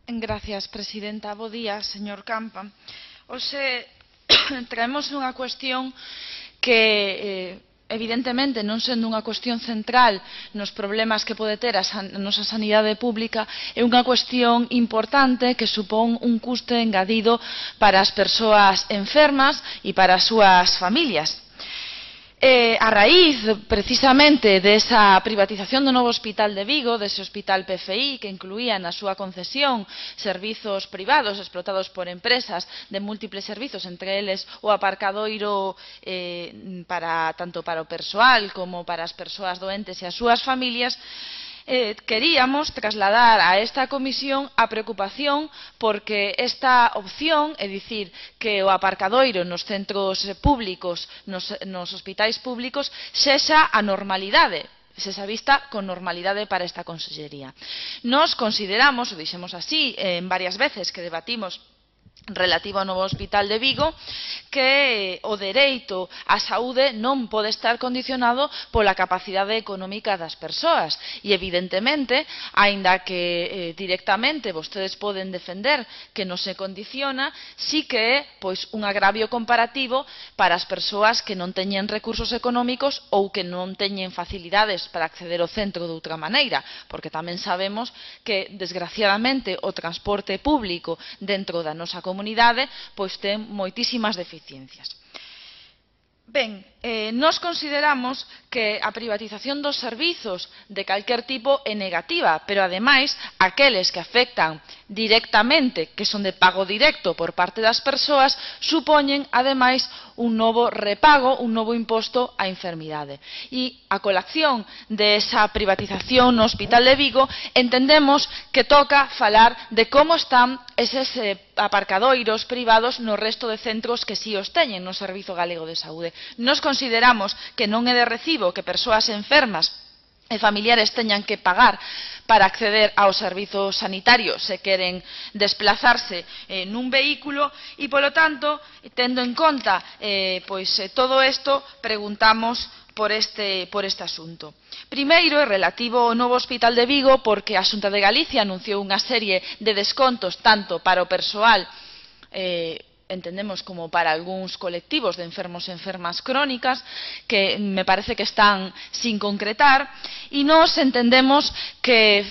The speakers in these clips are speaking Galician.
Gracias, presidenta. Bo día, señor Campa. Hoxe traemos unha cuestión que, evidentemente, non sendo unha cuestión central nos problemas que pode ter a nosa sanidade pública, é unha cuestión importante que supón un custe engadido para as persoas enfermas e para as súas familias. A raíz, precisamente, desa privatización do novo hospital de Vigo, dese hospital PFI, que incluía na súa concesión servizos privados explotados por empresas de múltiples servizos, entre eles o aparcadoiro tanto para o persoal como para as persoas doentes e as súas familias, queríamos trasladar a esta comisión a preocupación porque esta opción, é dicir, que o aparcadoiro nos centros públicos, nos hospitais públicos, sexa a normalidade, sexa vista con normalidade para esta consellería. Nos consideramos, o dixemos así en varias veces que debatimos relativo ao novo hospital de Vigo, que o dereito á saúde non pode estar condicionado pola capacidade económica das persoas e, evidentemente, aínda que directamente vostedes poden defender que non se condiciona, sí que é un agravio comparativo para as persoas que non teñen recursos económicos ou que non teñen facilidades para acceder ao centro de outra maneira, porque tamén sabemos que, desgraciadamente, o transporte público dentro da nosa comunidade ten moitísimas deficiencias. Ben, nós consideramos que a privatización dos servizos de calquer tipo é negativa, pero, ademais, aqueles que afectan directamente, que son de pago directo por parte das persoas, supoñen, ademais, un novo repago, un novo imposto á enfermidade. E, a colación desa privatización no Hospital de Vigo, entendemos que toca falar de como están eses aparcadoiros privados no resto de centros que si os teñen no Servizo Galego de Saúde. Nos consideramos que non é de recibo que persoas enfermas e familiares teñan que pagar para acceder aos servizos sanitarios se queren desplazarse nun vehículo e, polo tanto, tendo en conta todo isto, preguntamos por este asunto. Primeiro, é relativo ao novo Hospital de Vigo, porque a Xunta de Galicia anunciou unha serie de descontos tanto para o persoal entendemos como para algúns colectivos de enfermos e enfermas crónicas que me parece que están sin concretar e nós entendemos que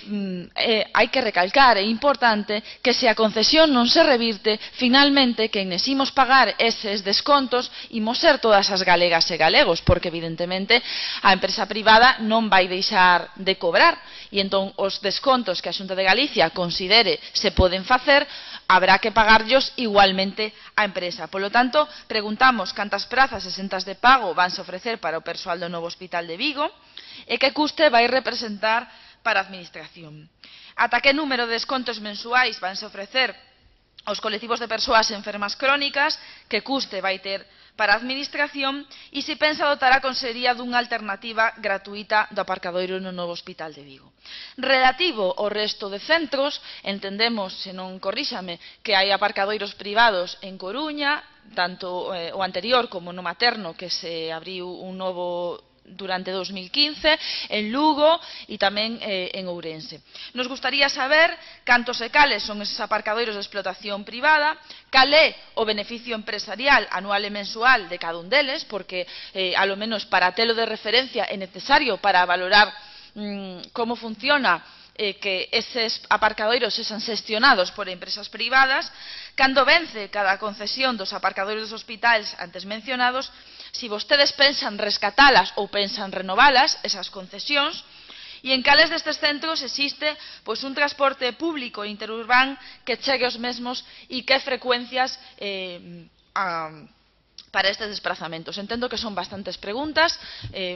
hai que recalcar, é importante que se a concesión non se revirte, finalmente quen imos pagar eses descontos imos ser todas as galegas e galegos, porque evidentemente a empresa privada non vai deixar de cobrar e entón os descontos que a Xunta de Galicia considere se poden facer habrá que pagarllos igualmente á empresa. Polo tanto, preguntamos cantas prazas exentas de pago vanse ofrecer para o persoal do novo Hospital de Vigo e que custe vai representar para a Administración. Ata que número de descontos mensuais vanse ofrecer aos colectivos de persoas enfermas crónicas, que custe vai ter para a Administración e se pensa dotar a Consellería dunha alternativa gratuita do aparcadoiro no novo Hospital de Vigo. Relativo ao resto de centros, entendemos, se non corríxame, que hai aparcadoiros privados en Coruña, tanto o anterior como no Materno, que se abriu un novo durante 2015, en Lugo e tamén en Ourense. Nos gustaría saber cantos e cales son eses aparcadoiros de explotación privada, cal é o beneficio empresarial anual e mensual de cada un deles, porque, alo menos para telo de referencia, é necesario para valorar como funciona que eses aparcadoiros sexan xestionados por empresas privadas, cando vence cada concesión dos aparcadoiros dos hospitais antes mencionados, se vostedes pensan rescatalas ou pensan renovalas, esas concesións, e en cales destes centros existe un transporte público interurbán que chegue aos mesmos e que frecuencias para estes desplazamentos. Entendo que son bastantes preguntas,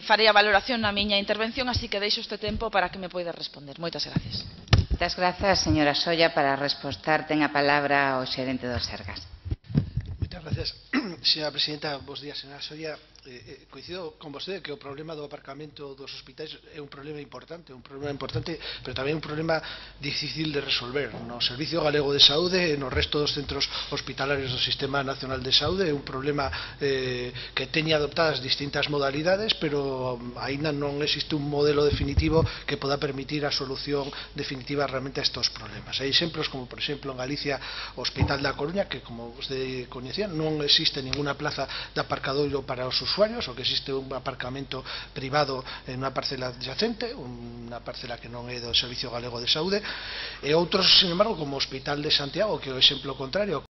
farei a valoración na miña intervención, así que deixo este tempo para que me poida responder. Moitas gracias. Moitas grazas, señora Solla. Para respostar, ten a palabra o xerente do Sergas. Moitas gracias, señora presidenta. Bos días, señora Solla. coincido con vostede que o problema do aparcamento dos hospitais é un problema importante, pero tamén un problema difícil de resolver. No Servicio Galego de Saúde e no resto dos centros hospitalarios do Sistema Nacional de Saúde é un problema que teña adoptadas distintas modalidades, pero aínda non existe un modelo definitivo que poda permitir a solución definitiva realmente a estes problemas. Hai exemplos como, por exemplo, en Galicia, o Hospital da Coruña, que, como vostede coñecía, non existe ninguna plaza de aparcadoiro para os usuarios, o que existe un aparcamento privado en unha parcela adyacente, unha parcela que non é do Servicio Galego de Saúde, e outros, sin embargo, como o Hospital de Santiago, que é o exemplo contrario,